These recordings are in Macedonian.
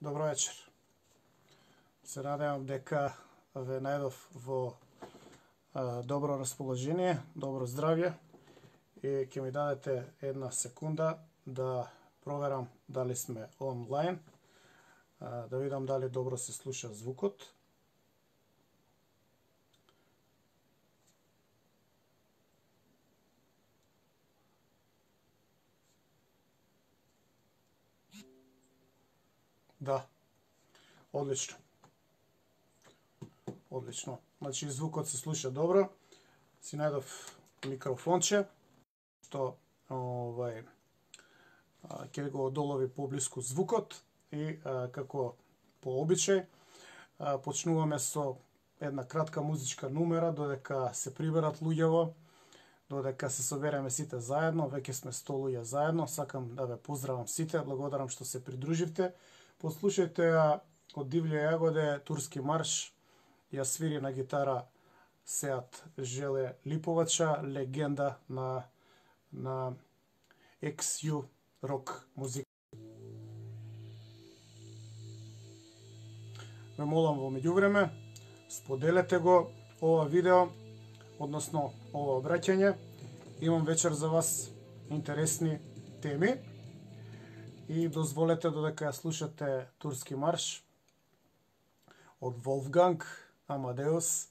Добро вечер. Се надевам дека ве најдов во добро расположение, добро здравје и ќе ми дадете една секунда да проверам дали сме онлайн, да видам дали добро се слуша звукот. Да, одлично. Одлично. Значи звукот се слуша добро. Си најдов микрофонче што ќе го долови поблиску звукот и како по обичај почнуваме со една кратка музичка numera додека се приберат луѓево, додека се собереме сите заедно. Веќе сме 100 луѓе заедно. Сакам да ве поздравам сите, благодарам што се придруживте. Послушајте ја од Дивље јагоде, турски марш. Ја свири на гитара Сеат Желе Липовача, легенда на XU рок музика. Ме молам во меѓувреме, споделете го ова видео, односно ова обраќање. Имам вечер за вас интересни теми и дозволете додека ја слушате турски марш од Волфганг Амадеус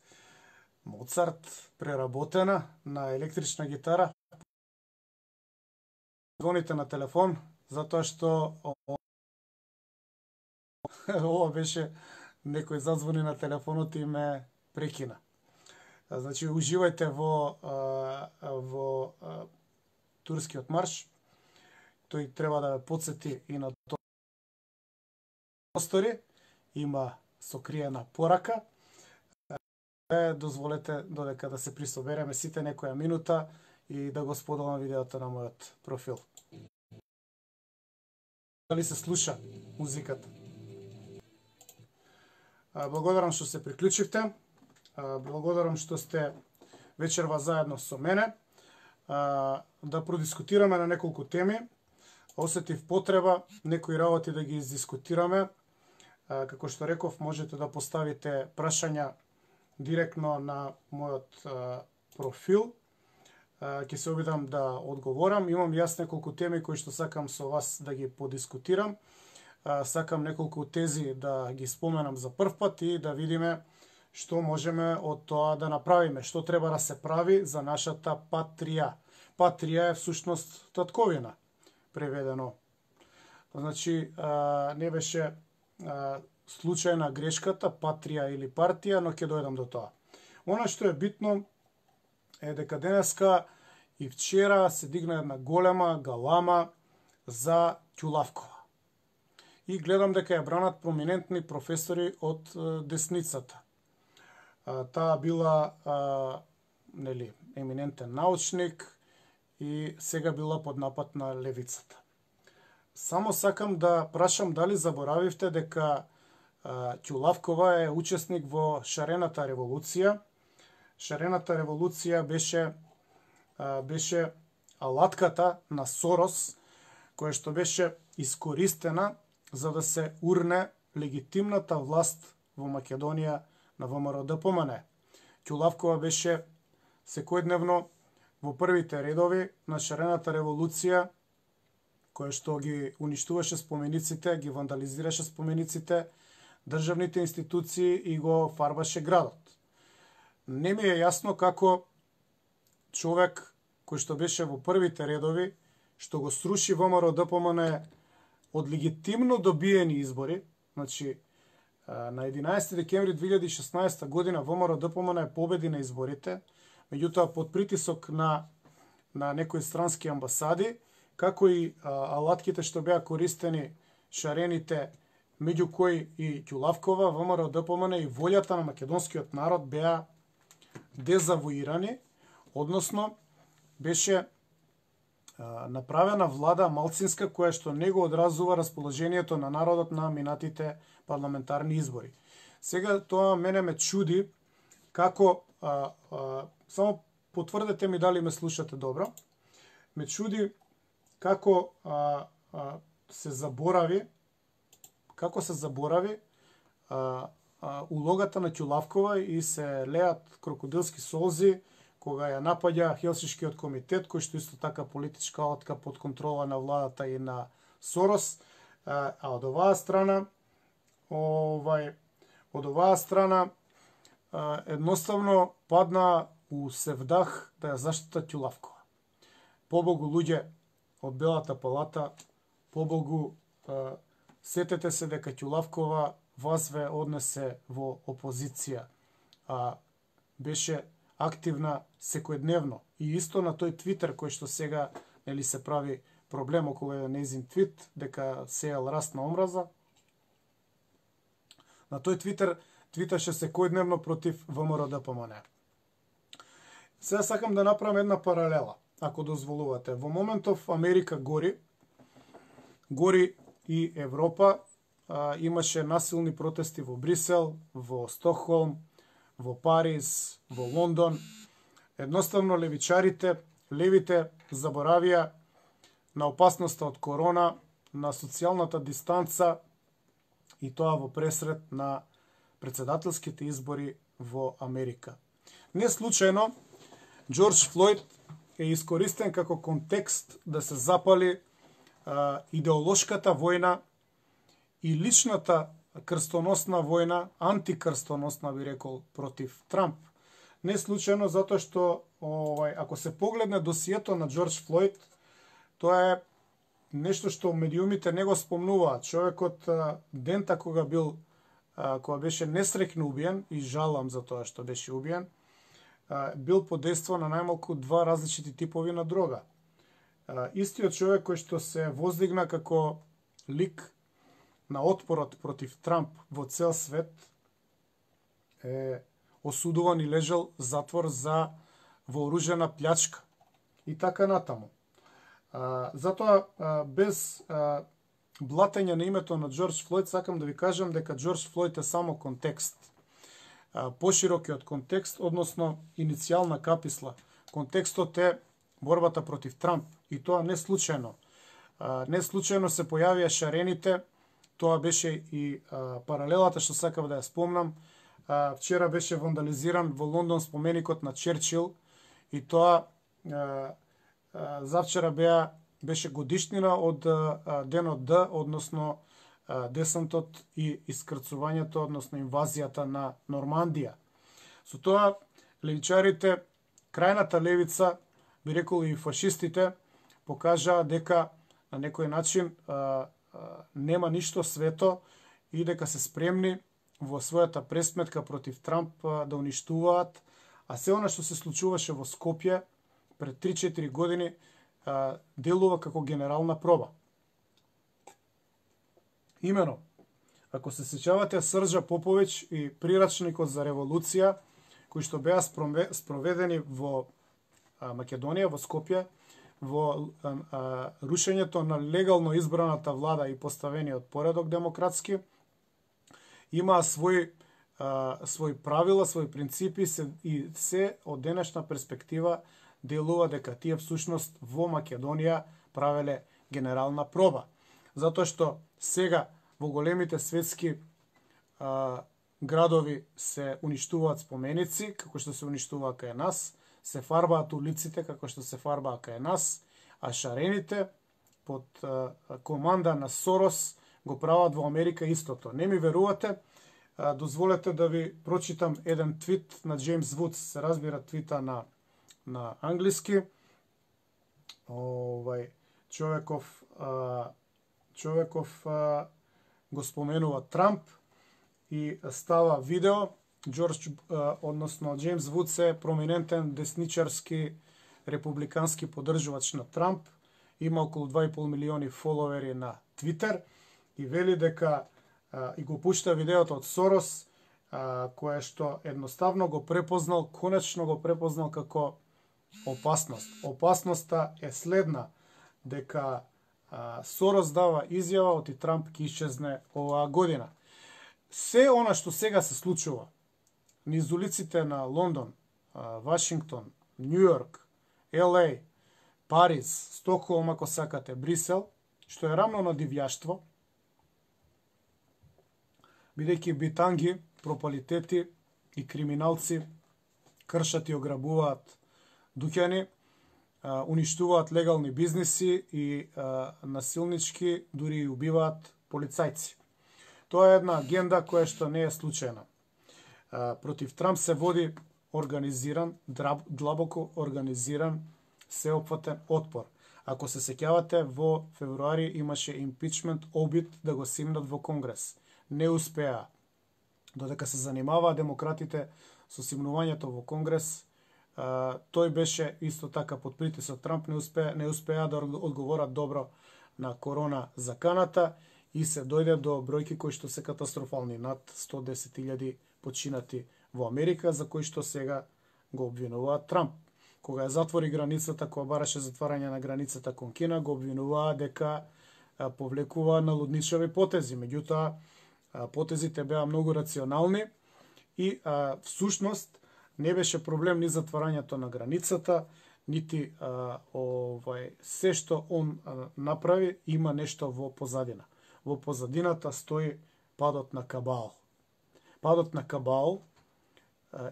Моцарт, преработена на електрична гитара. Звоните на телефон, затоа што ова беше некој зазвони на телефонот и ме прекина. Значи, уживајте во турскиот марш. Тој треба да ве подсети и на тоа простори. Има сокриена порака. Дозволете додека да се присобереме сите некоја минута и да го споделам видеото на мојот профил. Дали се слуша музиката? Благодарам што се приклучивте. Благодарам што сте вечерва заедно со мене. Да продискутираме на неколку теми. Осетив потреба некои работи да ги издискутираме. Како што реков, можете да поставите прашања директно на мојот профил. Ќе се обидам да одговорам. Имам јас неколку теми кои што сакам со вас да ги подискутирам. Сакам неколку тези да ги споменам за прв пат и да видиме што можеме од тоа да направиме, што треба да се прави за нашата патрија. Патрија е всушност татковина, преведено. Значи, не беше случајна грешката, патрија или партија, но ќе дојдам до тоа. Она што е битно е дека денеска и вчера се дигна една голема галама за Ќулавкова. И гледам дека ја бранат проминентни професори од десницата. Таа била еминентен научник и сега била под напад на левицата. Само сакам да прашам дали заборавивте дека Ќулавкова е учесник во шарената револуција. Шарената револуција беше алатката на Сорос, која што беше искористена за да се урне легитимната власт во Македонија на ВМРО-ДПМН. Ќулавкова беше секојдневно во првите редови на шарената револуција, која што ги уништуваше спомениците, ги вандализираше спомениците, државните институции и го фарбаше градот. Не ми е јасно како човек кој што беше во првите редови, што го сруши ВМРО-ДПМН од легитимно добиени избори. Значи, на 11 декември 2016 година ВМРО-ДПМН победи на изборите, меѓутоа под притисок на некои странски амбасади, како и алатките што беа користени шарените, меѓу кои и Ќулавкова, ВМРО-ДПМН и волјата на македонскиот народ беа дезавуирани, односно беше направена влада малцинска која што не го одразува расположението на народот на минатите парламентарни избори. Сега тоа мене ме чуди како само потврдете ми дали ме слушате добро. Ме чуди како се заборави како се заборави улогата на Ќулавкова и се леат крокодилски солзи кога ја напаѓа Хелсиншкиот комитет, кој што исто така политичка алатка под контрола на владата и на Сорос, а од оваа страна едноставно падна у севдах да ја заштита Ќулавкова. Побогу луѓе од Белата палата, побогу сетете се дека Ќулавкова вас ве однесе во опозиција, а беше активна секојдневно. И исто на тој твитер кој што сега нели се прави проблем околу нејзин твит дека сеел раст на омраза. На тој твитер твиташе секојдневно против ВМРО-ДПМН. Сега сакам да направам една паралела, ако дозволувате. Во моментов Америка гори и Европа. Имаше насилни протести во Брисел, во Стокхолм, во Париз, во Лондон. Едноставно левите заборавија на опасноста од корона, на социјалната дистанца и тоа во пресред на председателските избори во Америка. Не случајно, Џорџ Флојд е искористен како контекст да се запали идеолошката војна и личната крстоносна војна, антикрстоносна би рекол, против Трамп. Не случајно затоа што ако се погледне досието на Џорџ Флојд, тоа е нешто што медиумите не го спомнуваат. Човекот дента кога беше несреќно убиен, и жалам за тоа што беше убиен, бил под дејство на најмалку 2 различити типови на дрога. Истиот човек кој што се воздигна како лик на отпорот против Трамп во цел свет е осудуван и лежал затвор за вооружена плячка и така натаму. Затоа без блатење на името на Џорџ Флојд сакам да ви кажам дека Џорџ Флојд е само контекст. Поширокиот контекст, односно иницијална каписла. Контекстот е борбата против Трамп и тоа не случајно. Не случајно се појавија шарените. Тоа беше и паралелата што сакав да ја спомнам. Вчера беше вандализиран во Лондон споменикот на Черчил и тоа завчера беше годишнина од денот Д, односно десантот и искрцувањето, односно инвазијата на Нормандија. Со тоа левичарите, крајната левица, би рекол и фашистите, покажаа дека на некој начин нема ништо свето и дека се спремни во својата пресметка против Трамп да уништуваат, а се она што се случуваше во Скопје пред 3-4 години делува како генерална проба. Имено, ако се сеќавате Срđа Поповиќ и прирачникот за револуција, кои што беа спроведени во Македонија, во Скопје, во рушењето на легално избраната влада и поставениот поредок демократски, имаа своји правила, своји принципи и се од денешна перспектива делува дека тие всушност во Македонија правеле генерална проба. Затоа што сега во големите светски градови се уништуваат споменици, како што се уништуваа кај нас, се фарбаат улиците како што се фарбаа кај нас, а шарените под команда на Сорос го прават во Америка истото. Не ми верувате? Дозволете да ви прочитам еден твит на Джеймс Вудс, се разбира твита на англиски. Човеков го споменува Трамп и става видео. Односно Джеймс Вудс е проминентен десничарски републикански поддржувач на Трамп. Има околу 2,5 милиони фоловери на Твитер и вели дека и го пушта видеото од Сорос, кое што едноставно го препознал, конечно го препознал како опасност. Опасноста е следна, дека Сорос дава изјава оти Трамп ќе исчезне оваа година. Се она што сега се случува низ улиците на Лондон, Вашингтон, Њујорк, ЛА, Париз, Стокхолм, ако сакате, Брисел, што е рамно на дивјаштво, бидејќи битанги, пропалитети и криминалци кршат и ограбуваат дуќани, уништуваат легални бизниси и насилнички дури и убиваат полицајци. Тоа е една агенда која што не е случајна. Против Трамп се води организиран, длабоко организиран, сеопфатен отпор. Ако се сеќавате, во февруари имаше импичмент обид да го симнат во Конгрес. Не успеа. Додека се занимаваа демократите со симнувањето во Конгрес, тој беше исто така под притисок. Трамп не успеа да одговорат добро на корона заканата и се дојде до бројки кои што се катастрофални, над 110.000 починати во Америка, за кои што сега го обвинуваат Трамп. Кога ја затвори границата, кога бараше затварање на границата кон Кина, го обвинуваа дека повлекува налудничави потези. Меѓутоа, потезите беа многу рационални и всушност не беше проблем ни затварањето на границата, нити се што он направи има нешто во позадина. Во позадината стои падот на Кабал. Падот на Кабал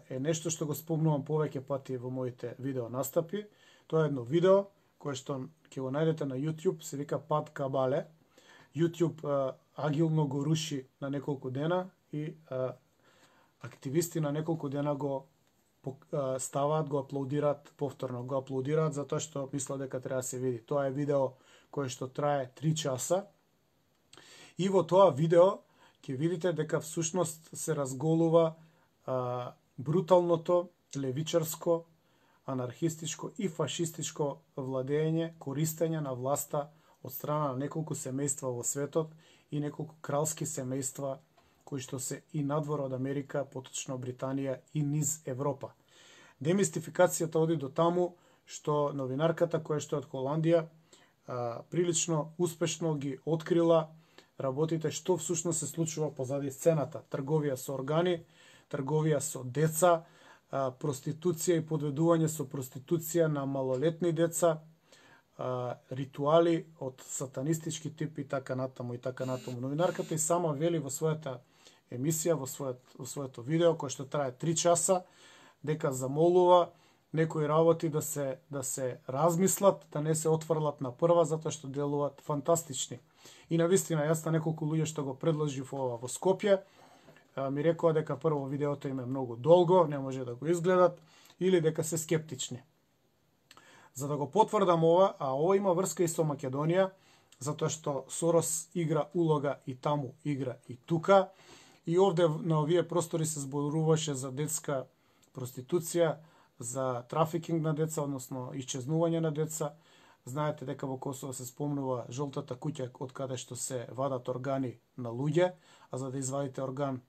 е нешто што го спомнувам повеќе пати во моите видео настапи. Тоа е едно видео кое што ќе го најдете на YouTube, се вика Пад Кабале. YouTube агилно го руши на неколку дена и активисти на неколку дена го ставаат, го аплодираат повторно, го аплодираат затоа што мислат дека треба да се види. Тоа е видео кое што трае 3 часа. И во тоа видео ќе видите дека всушност се разголува бруталното, левичарско, анархистичко и фашистичко владење, користење на власта од страна на неколку семејства во светот и неколку кралски семејства кои што се и надвор од Америка, поточно Британија и низ Европа. Демистификацијата оди до таму што новинарката која што е од Холандија прилично успешно ги открила работите што всушност се случува позади сцената. Трговија со органи, трговија со деца, проституција и подведување со проституција на малолетни деца, ритуали од сатанистички тип и така натаму и така натаму. Новинарката и сама вели во својата емисија, во своето видео, кој што трае 3 часа, дека замолува некои работи да се размислат, да не се отврлат на прва, затоа што делуваат фантастични. И навистина, јас на неколку луѓе што го предложив ова во Скопје, ми рекоа дека прво видеото им е многу долго, не може да го изгледат, или дека се скептични. За да го потврдам ова, а ова има врска и со Македонија, затоа што Сорос игра улога и таму игра и тука, и овде на овие простори се зборуваше за детска проституција, за трафикинг на деца, односно исчезнување на деца. Знаете дека во Косово се спомнува жолтата куќа од каде што се вадат органи на луѓе, а за да извадите орган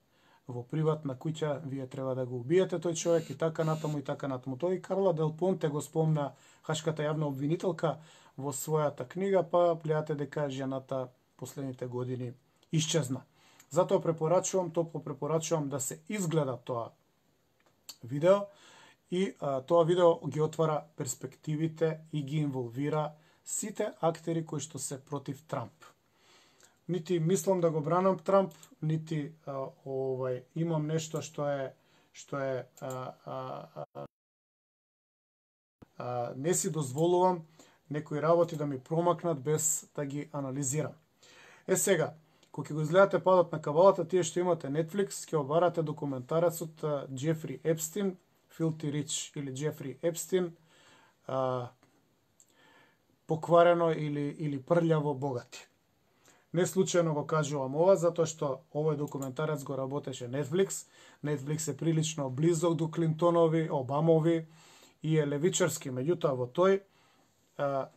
во приватна куќа, вие треба да го убиете тој човек и така натаму и така натаму. Тој Карла Дел Понте го спомна, хашката јавна обвинителка, во својата книга, па гледате дека жената последните години исчезна. Затоа топло препорачувам да се изгледа тоа видео и тоа видео ги отвара перспективите и ги инволвира сите актери кои што се против Трамп. Нити мислам да го бранам Трамп, нити имам нешто што е не си дозволувам некои работи да ми промакнат без да ги анализирам. Сега, кога ќе го изгледате Падот на Кабалата, тие што имате Netflix, ќе обарате документарецот Джефри Епстин, Filthy Rich или Джефри Епстин, покварено или прљаво богати. Не случајно го кажувам ова, затоа што овој документарец го работеше Netflix. Netflix е прилично близок до Клинтонови, Обамови и е левичарски. Меѓутоа во тој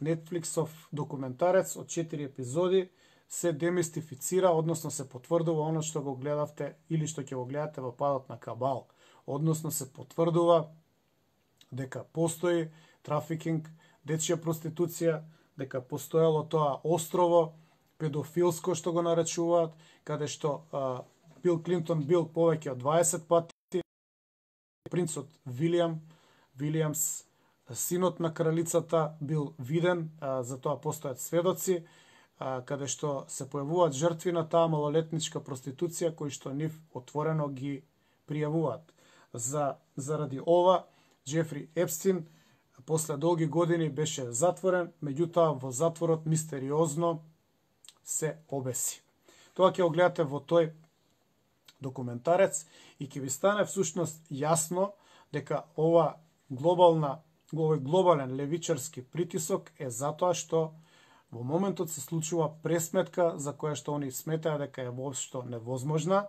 Netflixов документарец од 4 епизоди се демистифицира, односно се потврдува оно што го гледавте или што ќе го гледате во Падот на Кабал. Односно се потврдува дека постои трафикинг, дечја проституција, дека постоело тоа острово, педофилско што го наречуваат, каде што Бил Клинтон бил повеќе од 20 пати, принцот Вилијамс, синот на кралицата бил виден, за тоа постојат сведоци, каде што се појавуваат жртви на таа малолетничка проституција кои што нив отворено ги пријавуваат. Заради ова Џефри Епстин после долги години беше затворен, меѓутоа во затворот мистериозно се обеси. Тоа ќе го гледате во тој документарец и ќе ви стане всушност јасно дека овој глобален левичарски притисок е затоа што во моментот се случува пресметка за која што они сметаа дека е воопшто невозможна,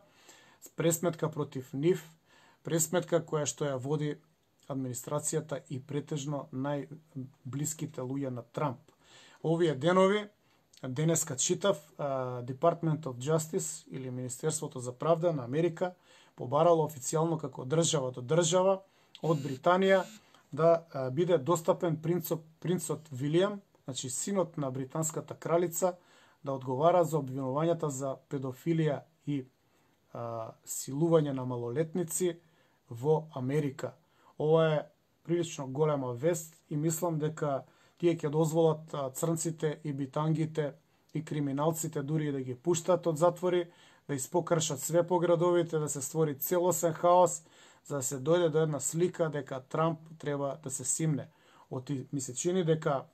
пресметка против нив, пресметка која што ја води администрацијата и претежно најблиските луѓе на Трамп. Овие денови, денеска читав, Department of Justice или Министерството за правда на Америка побарало официјално како држава до држава од Британија да биде достапен принцот Вилијам, значи синот на британската кралица, да одговара за обвинувањата за педофилија и силување на малолетници во Америка. Ова е прилично голема вест и мислам дека тие ќе дозволат црнците и битангите и криминалците дури да ги пуштат од затвори, да испокршат све по градовите, да се створи целосен хаос, за да се дојде до една слика дека Трамп треба да се симне. Ми се чини дека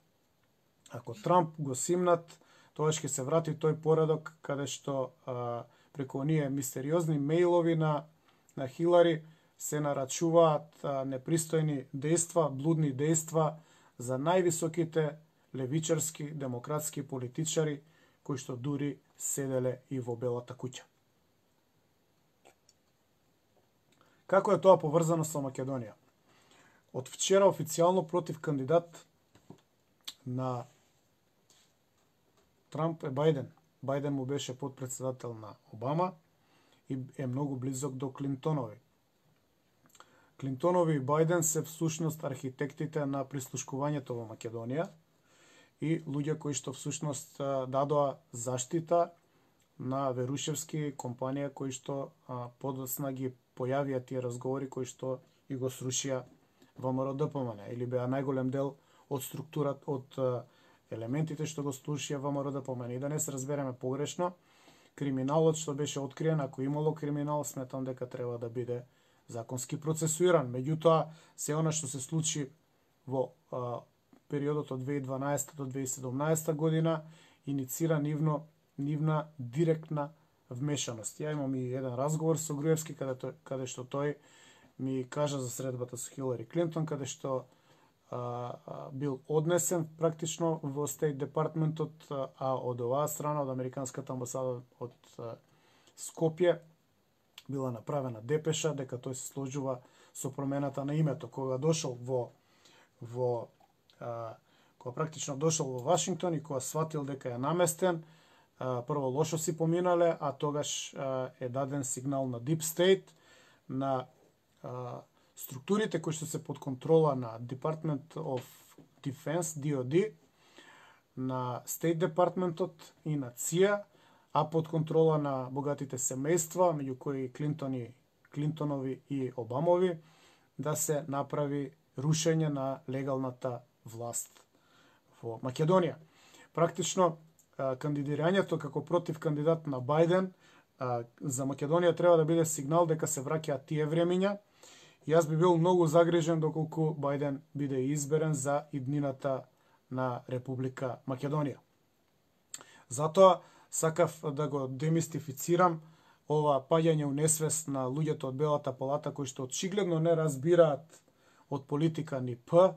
ако Трамп го симнат, тоа ќе се врати тој поредок каде што преку оние мистериозни мејлови на Хилари се нарачуваат непристојни дејства, блудни дејства за највисоките левичарски демократски политичари кои што дури седеле и во Белата куќа. Како е тоа поврзано со Македонија? Од вчера официјално против кандидат на Трамп е Бајден. Бајден му беше подпредседател на Обама и е многу близок до Клинтонови. Клинтонови и Бајден се всушност архитектите на прислушкувањето во Македонија и луѓе кои што всушност дадоа заштита на Верушевски компанија кои што подоцна ги појавија тие разговори кои што и го срушија ВМРО-ДПМН или беа најголем дел од структурата, од елементите што го срушија ВМРО-ДПМН. И да не се разбереме погрешно, криминалот што беше откриен, ако имало криминал, сметам дека треба да биде законски процесуиран. Меѓутоа, се она што се случи во периодот од 2012 до 2017 година иницира нивна директна вмешаност. Ја имам и еден разговор со Груевски каде што тој ми кажа за средбата со Хилари Клинтон, каде што бил однесен практично во Стейт Департментот, а од оваа страна, од Американската амбасада од Скопје, била направена депеша дека тој се сложува со промената на името. Кога дошол кога практично дошол во Вашингтон и кога сватил дека е наместен, прво лошо си поминале, а тогаш е даден сигнал на Deep State, на структурите кои што се под контрола на Department of Defense, DOD, на State Departmentот и на CIA, а под контрола на богатите семејства, меѓу кои Клинтонови и Обамови, да се направи рушење на легалната власт во Македонија. Практично, кандидирањето како против кандидат на Бајден за Македонија треба да биде сигнал дека се враќаат тие времиња. Јас би бил многу загрижен доколку Бајден биде изберен за иднината на Република Македонија. Затоа сакав да го демистифицирам ова паѓање у несвест на луѓето од Белата палата кои што очигледно не разбираат од политика ни П,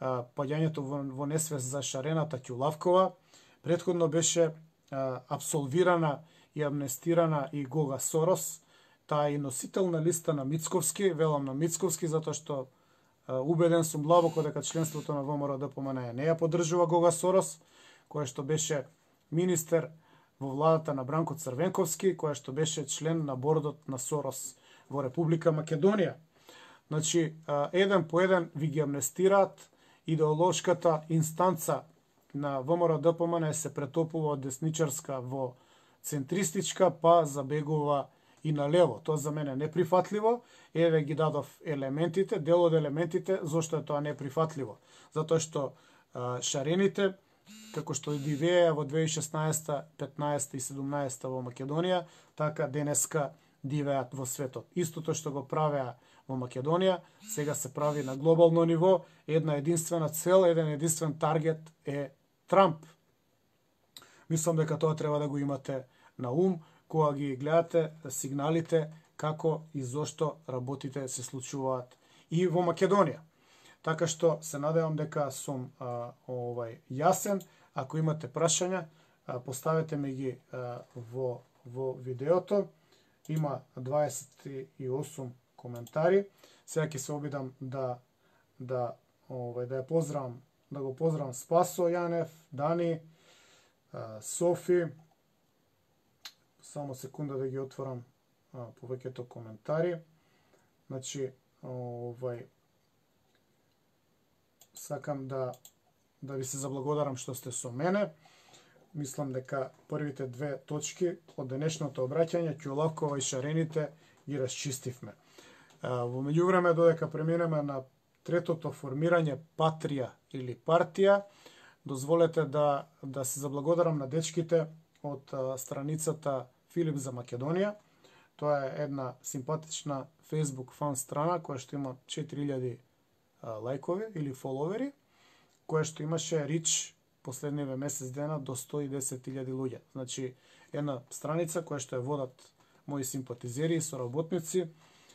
паѓањето во несвест за Шарената Ќулавкова. Претходно беше абсолвирана и амнестирана и Гога Сорос, таа е носител на листа на Мицковски, велам на Мицковски, затоа што убеден сум длабоко дека членството на ВМРО-ДПМН не ја поддржува Гога Сорос, која што беше министер во владата на Бранко Црвенковски, која што беше член на бордот на Сорос во Република Македонија. Значи, еден по еден ви ги амнестираат, идеолошката инстанца на ВМРО-ДПМН се претопува од десничарска во центристичка, па забегува и на лево. Тоа за мене е неприфатливо. Еве ги дадов елементите, дел од елементите, зошто е тоа неприфатливо. Затоа што шарените како што дивеја во 2016, 15 и 17 во Македонија, така денеска дивеат во светот. Истото што го правеа во Македонија, сега се прави на глобално ниво, една единствена цел, еден единствен таргет е Трамп. Мислам дека тоа треба да го имате на ум кога ги гледате сигналите како и зошто работите се случуваат и во Македонија. Така што се надевам дека сум јасен. Ако имате прашања, поставете ми ги во видеото. Има 28 коментари. Сега ќе се обидам да ја поздравам, да го поздравам Спасо Јанев, Дани, Софи. Само секунда да ги отворам повеќето коментари. Значи, сакам да ви се заблагодарам што сте со мене. Мислам дека првите две точки од денешното обраќање, Ќулавкова и Шарените, ги расчистивме. Во меѓувреме, додека преминеме на третото формирање патрија или партија, дозволете да се заблагодарам на дечките од страницата Филип за Македонија. Тоа е една симпатична Facebook фан страна која што има 4000 лајкови или фоловери, која што имаше рич последниве месец дена до 110.000 луѓе. Значи, една страница која што ја водат мои симпатизери и соработници,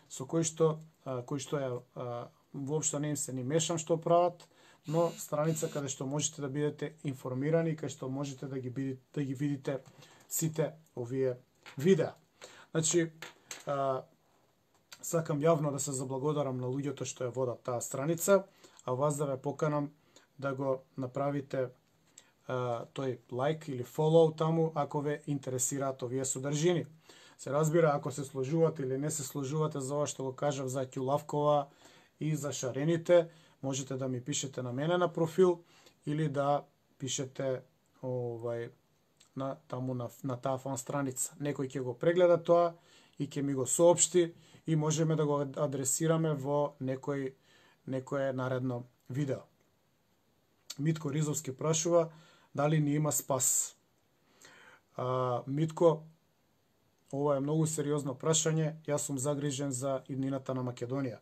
со кои што ја воопшто не им се ни мешам што прават, но страница каде што можете да бидете информирани и каде што можете да ги видите сите овие видеа. Значи, сакам јавно да се заблагодарам на луѓето што ја водат таа страница, а вас да ве поканам да го направите тој лайк или фолоу таму ако ве интересираат овие содржини. Се разбира, ако се сложувате или не се сложувате за ова што го кажав за Ќулавкова и за Шарените, можете да ми пишете на мене на профил или да пишете на таа фан страница. Некој ќе го прегледа тоа и ќе ми го соопшти и можеме да го адресираме во некое наредно видео. Митко Ризовски прашува дали ни има спас. Митко, ова е многу сериозно прашање. Јас сум загрижен за иднината на Македонија.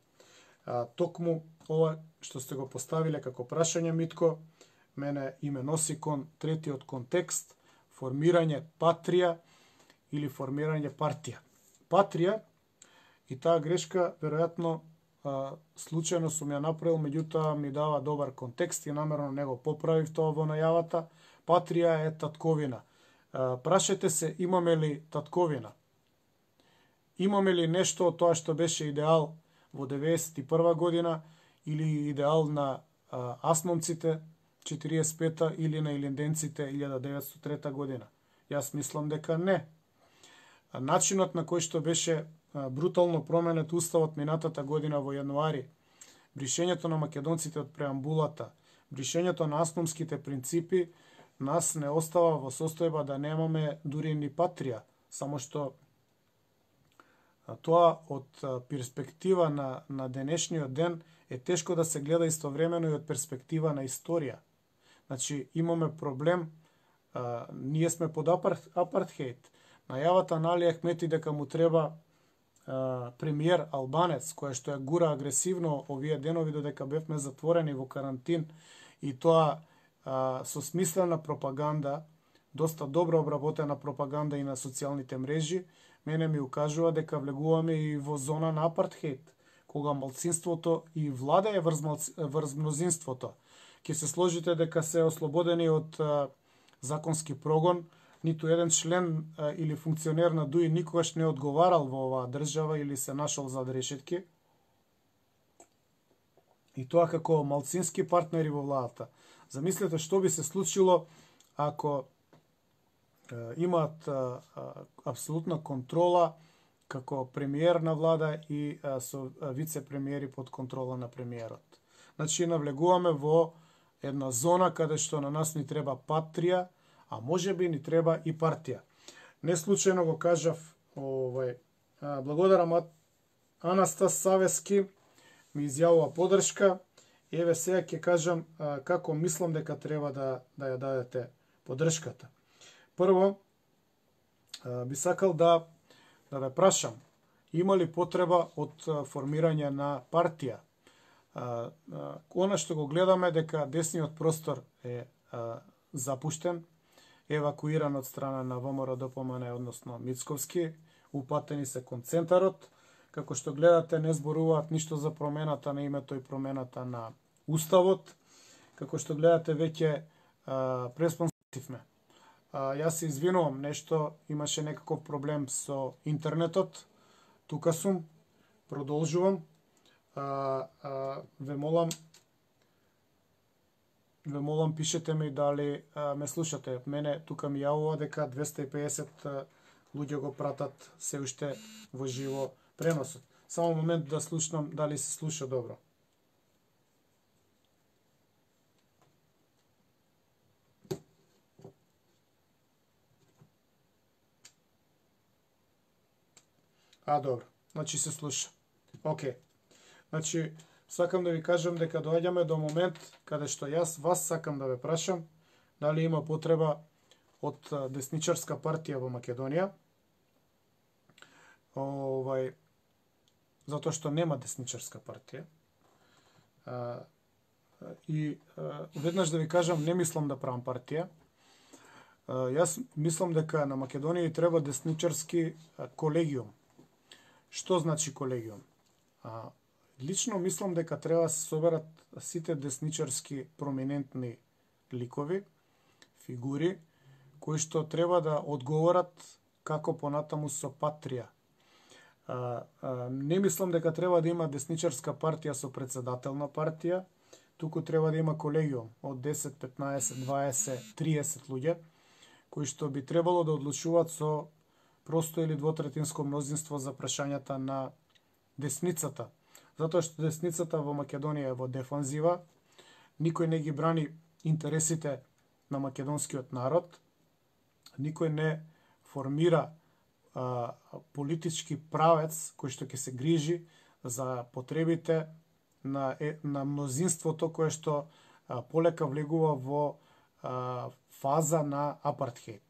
Токму ова што сте го поставиле како прашање, Митко, мене име носи кон третиот контекст, формирање патрија или формирање партија. Патрија, и таа грешка веројатно случајно сум ја направил, меѓутоа ми дава добар контекст и намерно не го поправив тоа во најавата. Патрија е татковина. Прашете се, имаме ли татковина? Имаме ли нешто од тоа што беше идеал во 1991 година или идеал на асмомците 45-та или на илинденците 1903 година? Јас мислам дека не. Начинот на кој што беше брутално променет уставот минатата година во јануари, бришењето на македонците од преамбулата, бришењето на асмомските принципи, нас не остава во состојба да немаме дури ни патрија, само што тоа од перспектива на денешниот ден е тешко да се гледа истовремено и од перспектива на историја. Значи, имаме проблем, ние сме под апартхейт. Најавата на Али Ахмети дека му треба премиер албанец, која што ја гура агресивно овие денови додека бевме затворени во карантин, и тоа со смислена пропаганда, доста добро обработена пропаганда и на социјалните мрежи, мене ми укажува дека влегуваме и во зона на апартхейт, кога малцинството и владее врз мнозинството. Ќе се сложите дека се ослободени од законски прогон, ниту еден член или функционер на ДУИ никогаш не одговарал во оваа држава или се нашол зад решетки. И тоа како малцински партнери во владата. Замислете што би се случило ако имаат апсолутна контрола како премиер на влада и со вице-премиери под контрола на премиерот. Значи, навлегуваме во една зона каде што на нас ни треба патрија, а може би ни треба и партија. Не случајно го кажав, благодарам Анастас Савески, ми изјавува поддршка Еве сега ќе кажам како мислам дека треба да ја дадете поддршката. Прво, би сакал да ве прашам, има ли потреба од формирање на партија? Она што го гледаме дека десниот простор е запуштен, евакуиран од страна на ВМРО ДПМН, односно Мицковски, упатени се кон центарот. Како што гледате, не зборуваат ништо за промената на името и промената на Уставот. Како што гледате, веќе преспонсивме. Јас се извинувам, нешто имаше некаков проблем со интернетот. Тука сум, продолжувам. Ве молам, пишете ми дали ме слушате. Мене тука ми јавува дека 250 луѓе го пратат се уште во живо преносот. Само момент да слушнам дали се слуша добро. Добро. Значи се слуша. Океј. Значи, сакам да ви кажам дека доаѓаме до момент каде што јас вас сакам да ве прашам дали има потреба од десничарска партија во Македонија. Затоа што нема десничарска партија. И веднаш да ви кажам, не мислам да правам партија. Јас мислам дека на Македонија треба десничарски колегиум. Што значи колегиум? Лично мислам дека треба да се соберат сите десничарски проминентни ликови, фигури, кои што треба да одговорат како понатаму со патрија. Не мислам дека треба да има десничарска партија со председател на партија, туку треба да има колегиум од 10, 15, 20, 30 луѓе, кои што би требало да одлучуваат со просто или двотретинско мнозинство за прашањата на десницата. Затоа што десницата во Македонија е во дефанзива, никој не ги брани интересите на македонскиот народ, никој не формира политички правец кој што ќе се грижи за потребите на мнозинството кое што полека влегува во фаза на апартхејд.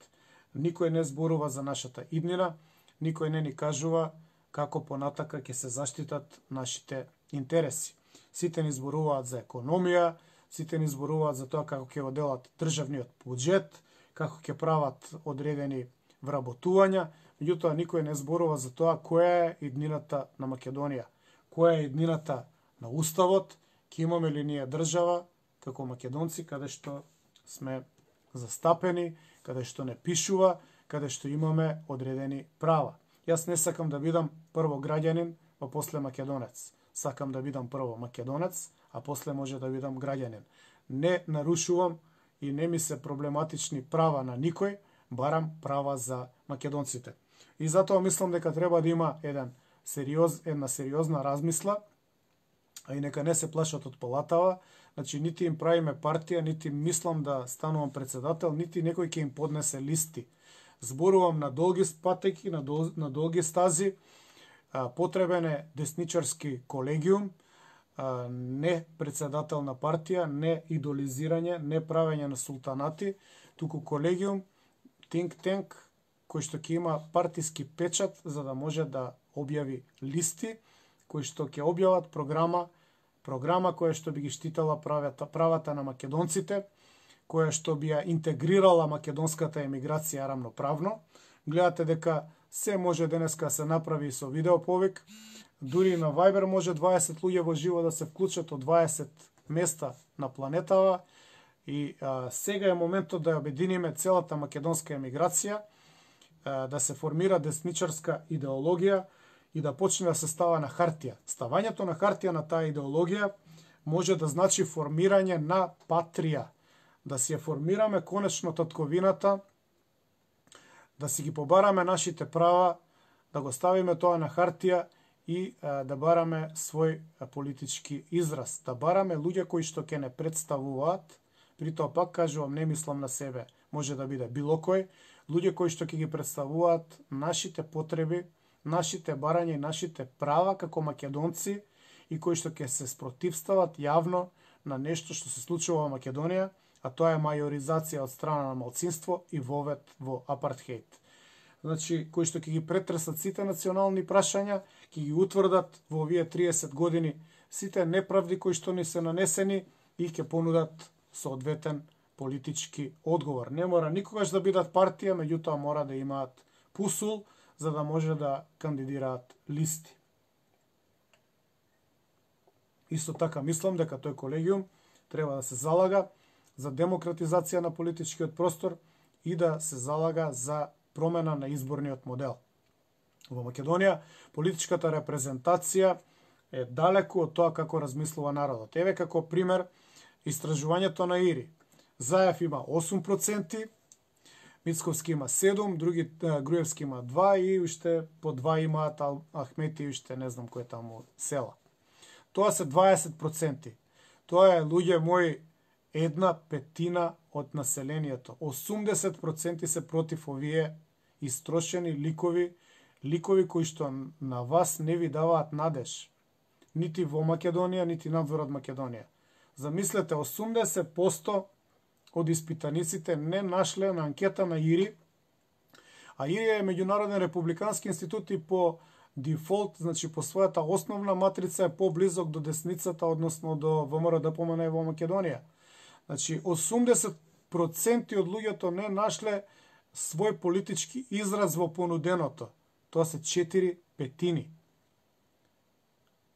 Никој не зборува за нашата иднина, никој не ни кажува како понатака ќе се заштитат нашите интереси. Сите ни зборуваат за економија, сите ни зборуваат за тоа како ќе го делат државниот буџет, како ќе прават одредени вработувања, меѓутоа никој не зборува за тоа која е иднината на Македонија, која е иднината на Уставот, ќе имаме ли ние држава како македонци каде што сме застапени, каде што не пишува, каде што имаме одредени права. Јас не сакам да бидам прво граѓанин, па после македонец. Сакам да бидам прво македонец, а после може да бидам граѓанин. Не нарушувам и не ми се проблематични права на никој, барам права за македонците. И затоа мислам дека треба да има една сериозна размисла, а и нека не се плашат од палатава. Значи, нити им правиме партија, нити мислам да станувам председател, нити некој ќе им поднесе листи. Зборувам на долги патеки, на долги стази. Потребен е десничарски колегиум, не председател на партија, не идолизирање, не правење на султанати, туку колегиум, think tank, кој што ќе има партиски печат за да може да објави листи, кои што ќе објават програма која што би ги штитала правата на македонците, која што би ја интегрирала македонската емиграција рамноправно. Гледате дека се може денеска се направи со видеоповик, дури на Viber може 20 луѓе во живо да се вклучат од 20 места на планетава и сега е моментот да ја обединиме целата македонска емиграција, да се формира десничарска идеологија и да почне да се става на хартија. Ставањето на хартија на таа идеологија може да значи формирање на патрија, да си ја формираме конечно татковината, да си ги побараме нашите права, да го ставиме тоа на хартија и да бараме свој политички израз, да бараме луѓе кои што ќе не представуваат, при тоа пак кажувам, не мислам на себе, може да биде било кој, луѓе кои што ќе ги представуваат нашите потреби, нашите барања и нашите права како македонци и кои што ќе се спротивстават јавно на нешто што се случува во Македонија, а тоа е мајоризација од страна на малцинство и вовед во апартхеид. Значи, кои што ќе ги претресат сите национални прашања, ќе ги утврдат во овие 30 години сите неправди кои што ни се нанесени и ќе понудат соодветен политички одговор. Не мора никогаш да бидат партија, меѓутоа мора да имаат пусул за да може да кандидираат листи. Исто така мислам дека тој колегиум треба да се залага за демократизација на политичкиот простор и да се залага за промена на изборниот модел. Во Македонија политичката репрезентација е далеку од тоа како размислува народот. Еве како пример истражувањето на ИРИ. Заев има 8%, Мицковски има 7%, Груевски има 2% и уште по 2 имаат Ахмети и уште не знам кој таму села. Тоа се 20%. Тоа е, луѓе мои, 1/5 од населението. 80% се против овие истрошени ликови кои што на вас не ви даваат надеж. Нити во Македонија, нити надвор од Македонија. Замислете, 80% од испитаниците не нашле на анкета на ИРИ, а ИРИ е меѓународен републикански институт и по дефолт, значи по својата основна матрица е поблизок до десницата, односно до ВМРО-ДПМН во Македонија. Значи 80% од луѓето не нашле свој политички израз во понуденото. Тоа се 4/5.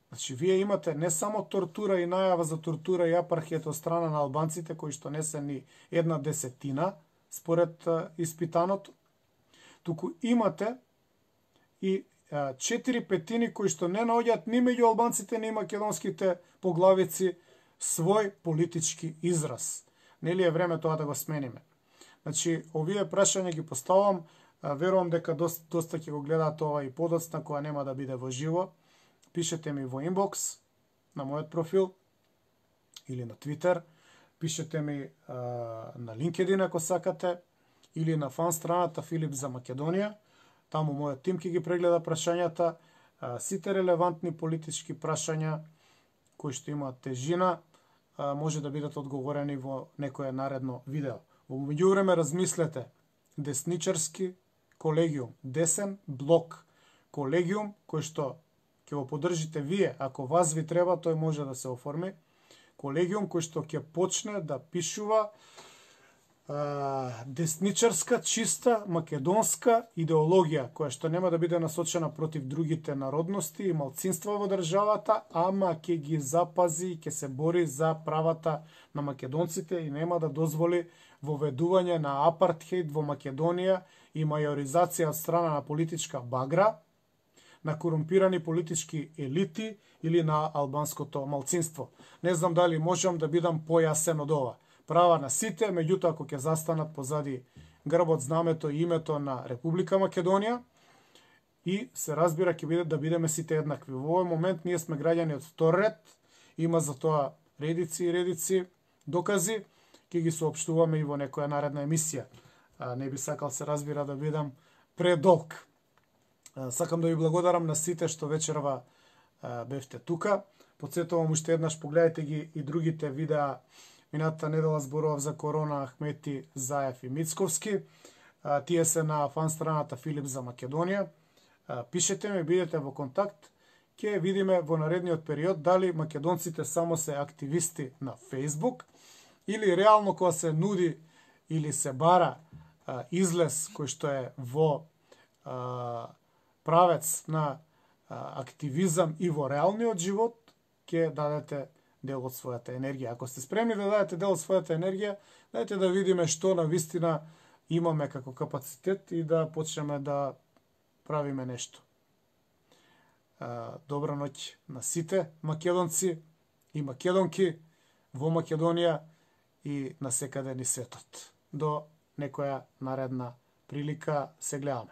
Значи, вие имате не само тортура и најава за тортура и апархет од страна на албанците, кои што не се ни 1/10, според испитаното, туку имате и 4/5 кои што не наоѓаат ни меѓу албанците, ни македонските поглавици свој политички израз. Нели е време тоа да го смениме? Значи, овие прашања ги поставам, верувам дека доста ќе го гледаат ова и подоцна, која нема да биде во живо. Пишете ми во инбокс на мојот профил или на Твитер, пишете ми на LinkedIn ако сакате, или на фан страната Филип за Македонија. Таму мојот тим ќе ги прегледа прашањата, сите релевантни политички прашања кои што имаат тежина, може да бидат одговорени во некое наредно видео. Во меѓувреме размислете, десничарски колегиум, десен блок колегиум, кој што ќе го поддржите вие, ако вас ви треба, тој може да се оформи. Колегиум кој што ќе почне да пишува десничарска, чиста, македонска идеологија, која што нема да биде насочена против другите народности и малцинства во државата, ама ќе ги запази и ќе се бори за правата на македонците и нема да дозволи воведување на апартхейд во Македонија и мајоризација од страна на политичка багра, на корумпирани политички елити или на албанското малцинство. Не знам дали можам да бидам појасен од ова. Права на сите, меѓутоа ако ќе застанат позади грбот, знамето и името на Република Македонија и се разбира ќе биде да бидеме сите еднакви. Во овој момент ние сме граѓани од втор ред, има за тоа редици и редици докази, ќе ги соопштуваме и во некоја наредна емисија. Не би сакал се разбира да бидам предолг. Сакам да ви благодарам на сите што вечерва бевте тука. Потсетувам уште еднаш, погледайте ги и другите видеа. Минатата недела зборував за Корона, Ахмети, Заев и Мицковски. Тие се на фан страната Филип за Македонија. Пишете ми, бидете во контакт. Ќе видиме во наредниот период дали македонците само се активисти на Facebook или реално кога се нуди или се бара излез кој што е во правец на активизам и во реалниот живот, ќе дадете дел од својата енергија. Ако сте спремни да дадете дел од својата енергија, дајте да видиме што на вистина имаме како капацитет и да почнеме да правиме нешто. Добра ноќ на сите македонци и македонки во Македонија и на секаде ни светот. До некоја наредна прилика се гледаме.